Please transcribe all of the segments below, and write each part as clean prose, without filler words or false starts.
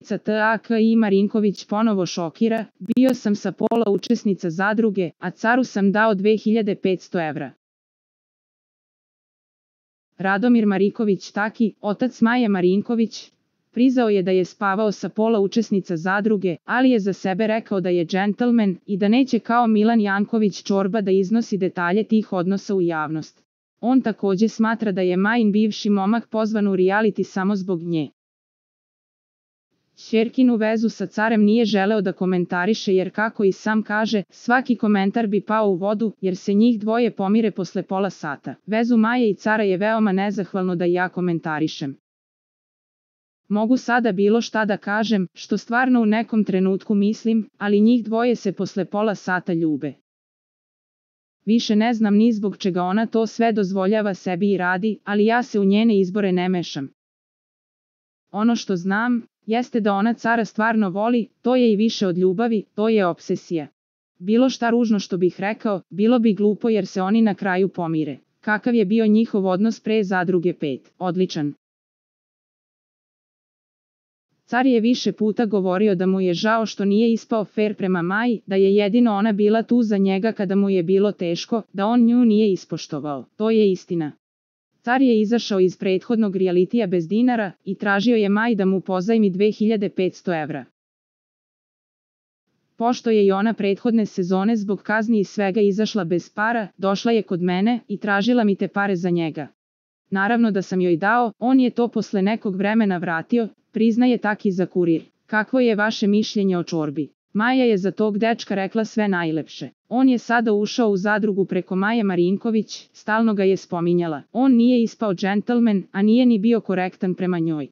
T.A.K.I. Marinković ponovo šokira, bio sam sa pola učesnica zadruge, a caru sam dao 2500 evra. Radomir Mariković Taki, otac Maje Marinković, priznao je da je spavao sa pola učesnica zadruge, ali je za sebe rekao da je džentlmen i da neće kao Milan Janković Čorba da iznosi detalje tih odnosa u javnost. On također smatra da je Majin bivši momak pozvan u reality samo zbog nje. Ćerkinu vezu sa carem nije želeo da komentariše jer, kako i sam kaže, svaki komentar bi pao u vodu jer se njih dvoje pomire posle pola sata. Vezu Maje i cara je veoma nezahvalno da ja komentarišem. Mogu sada bilo šta da kažem, što stvarno u nekom trenutku mislim, ali njih dvoje se posle pola sata ljube. Više ne znam ni zbog čega ona to sve dozvoljava sebi i radi, ali ja se u njene izbore ne mešam. Ono što znam, jeste da ona cara stvarno voli, to je i više od ljubavi, to je obsesija. Bilo šta ružno što bih rekao, bilo bi glupo jer se oni na kraju pomire. Kakav je bio njihov odnos pre zadruge 5? Odličan. Car je više puta govorio da mu je žao što nije ispao fer prema Maji, da je jedino ona bila tu za njega kada mu je bilo teško, da on nju nije ispoštovao. To je istina. Car je izašao iz prethodnog realitija bez dinara i tražio je Maji da mu pozajmi 2500 evra. Pošto je i ona prethodne sezone zbog kazni i svega izašla bez para, došla je kod mene i tražila mi te pare za njega. Naravno da sam joj dao, on je to posle nekog vremena vratio, priznaje Taki za Kurir. Kakvo je vaše mišljenje o Čorbi? Maja je za tog dečka rekla sve najlepše. On je sada ušao u zadrugu preko Maje Marinković, stalno ga je spominjala. On nije ispao džentlmen, a nije ni bio korektan prema njoj.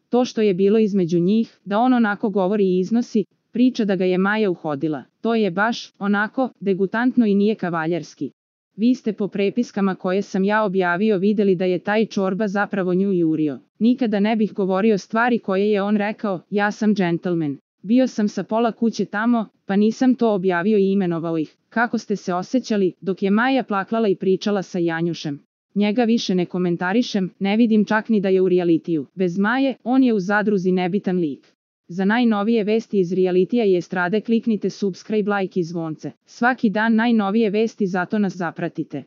To što je bilo između njih, da on onako govori i iznosi, priča da ga je Maja uhodila. To je baš, onako, degutantno i nije kavaljerski. Vi ste po prepiskama koje sam ja objavio vidjeli da je taj Čorba zapravo nju jurio. Nikada ne bih govorio stvari koje je on rekao, ja sam džentlmen. Bio sam sa pola kuće tamo, pa nisam to objavio i imenovao ih. Kako ste se osjećali, dok je Maja plaklala i pričala sa Janjušem? Njega više ne komentarišem, ne vidim čak ni da je u realitiju. Bez Maje, on je u zadruzi nebitan lik. Za najnovije vesti iz realitija i estrade kliknite subscribe, like i zvonce. Svaki dan najnovije vesti, zato nas zapratite.